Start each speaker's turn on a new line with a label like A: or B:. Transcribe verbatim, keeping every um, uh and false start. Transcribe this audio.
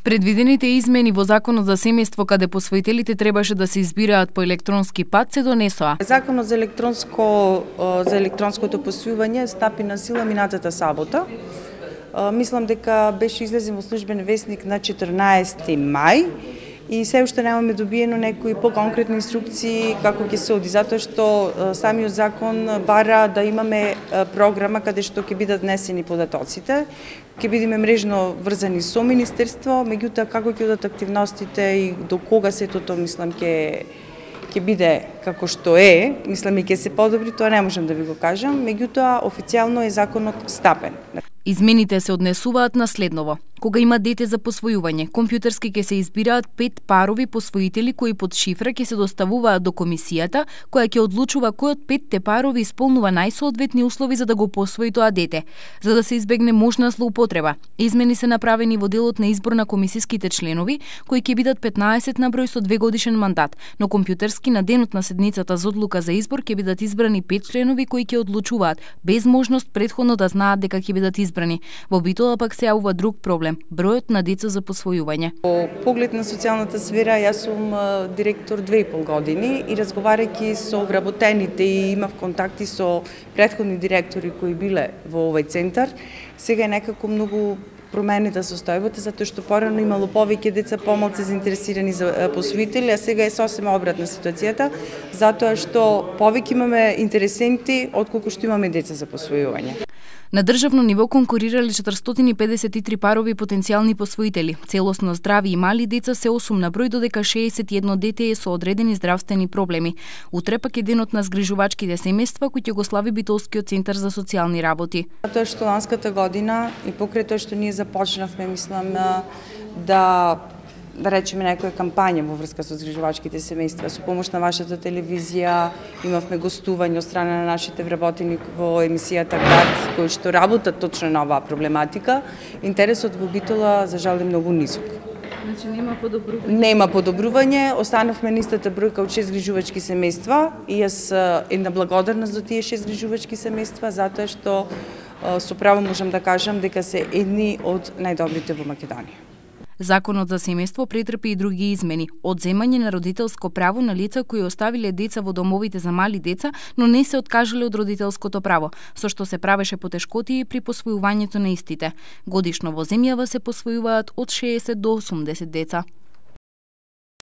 A: Предвидените измени во Законот за семејство каде посвоителите требаше да се избираат по електронски пат се донесоа.
B: Законот за електронско за електронското посвојување стапи на сила минатата сабота. Мислам дека беше излезен во службен весник на четрнаесети мај и се уште немаме добиено некои поконкретни инструкции како ќе се оди, затоа што самиот закон бара да имаме програма каде што ќе бидат внесени податоците, ќе бидеме мрежно врзани со министерство, меѓутоа како ќе одат активностите и до кога сето тоа мислам ќе ќе биде како што е, мислам и ќе се подобри, тоа не можам да ви го кажам, меѓутоа официјално е законот стапен.
A: Измените се однесуваат на следново. Кога има дете за посвојување, компјутерски ќе се избираат пет парови посвоители кои под шифра ќе се доставуваат до комисијата, која ќе одлучува кој од петте парови исполнува најсоодветни услови за да го посвои тоа дете. За да се избегне можна злоупотреба, измени се направени во делот на избор на комисиските членови, кои ќе бидат петнаесет на број со двегодишен мандат, но компјутерски на денот на седницата за одлука за избор ќе бидат избрани пет членови кои ќе одлучуваат без можност претходно да знаат дека ќе бидат избрани. Во битола пак се јавува друг проблем – бројот на деца за посвојување.
B: По поглед на социјалната сфера, јас сум директор две и пол години и разговарајќи со вработените и имав контакти со претходни директори кои биле во овој центар, сега е некако многу променета состојбата, затоа што порано имало повеќе деца помалку заинтересирани за посвоители, а сега е сосем обратна ситуацијата, затоа што повеќе имаме интересенти отколку што имаме деца за посвојување.
A: На државно ниво конкурирале четиристотини и педесет и три парови потенцијални посвоители. Целосно здрави и мали деца се осум на број, додека шеесет и едно дете е со одредени здравствени проблеми. Утре пак е денот на згрижувачките семејства кој ќе го слави Битолскиот центар за социјални работи.
B: Тоа што ланската година и покрај тоа што ние започнавме, мислам, да да речеме некоја кампања во врска со згрижувачките семејства, со помош на вашата телевизија, имавме гостување од страна на нашите вработени во емисијата Град, кои што работат точно на оваа проблематика. Интересот во Битола за жал е многу нисок.
A: Значи нема подобрување.
B: Нема подобрување, останавме на истата бројка од шест згрижувачки семејства и јас една благодарност за тие шест згрижувачки семејства, затоа што со право можам да кажам дека се едни од најдобрите во Македонија.
A: Законот за семејство претрпи и други измени. Одземање на родителско право на лица кои оставиле деца во домовите за мали деца, но не се откажале од родителското право, со што се правеше потешкотии при посвојувањето на истите. Годишно во земјава се посвојуваат од шеесет до осумдесет деца.